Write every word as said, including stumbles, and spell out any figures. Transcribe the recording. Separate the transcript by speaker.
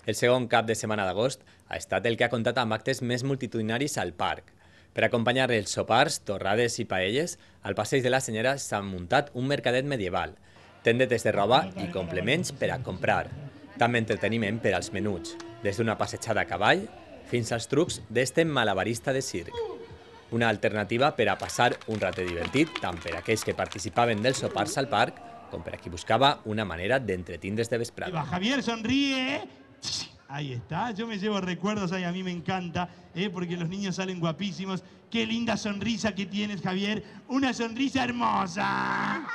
Speaker 1: El segon cap de setmana d'agost ha estat el que ha comptat amb actes més multitudinaris al parc. Per acompanyar els sopars, torrades i paelles, al passeig de la Senyera s'ha muntat un mercadet medieval, tendetes de roba i complements per a comprar. També entreteniment per als menuts, des d'una passejada a cavall fins als trucs d'este malabarista de circ. Una alternativa per a passar un rato divertit tant per a aquells que participaven dels sopars al parc com per a qui buscava una manera d'entretindre's de vesprada.
Speaker 2: Javier sonríe. Ahí está, yo me llevo recuerdos, ahí a mí me encanta, ¿eh? Porque los niños salen guapísimos. Qué linda sonrisa que tienes, Javier, una sonrisa hermosa.